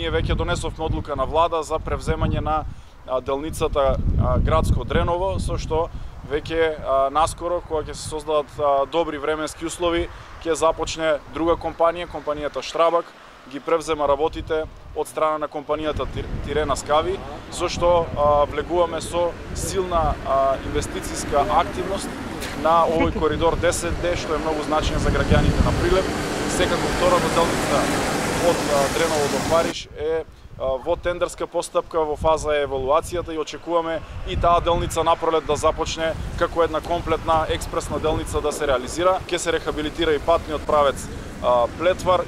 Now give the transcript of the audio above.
Ние веќе донесовме одлука на влада за превземање на делницата Градско Дреново, со што веќе наскоро, кога ќе се создадат добри временски услови, ќе започне друга компанија, компанијата Штрабак, ги превзема работите од страна на компанијата Тирена Скави, со што влегуваме со силна инвестициска активност на овој коридор 10D, што е многу значаен за граѓаните на Прилеп. Секако втората делница од Дреново до Париж е во тендерска постапка, во фаза е евалуацијата и очекуваме и таа делница напролет да започне како една комплетна експресна делница да се реализира. Ќе се рехабилитира и патниот правец Плетвар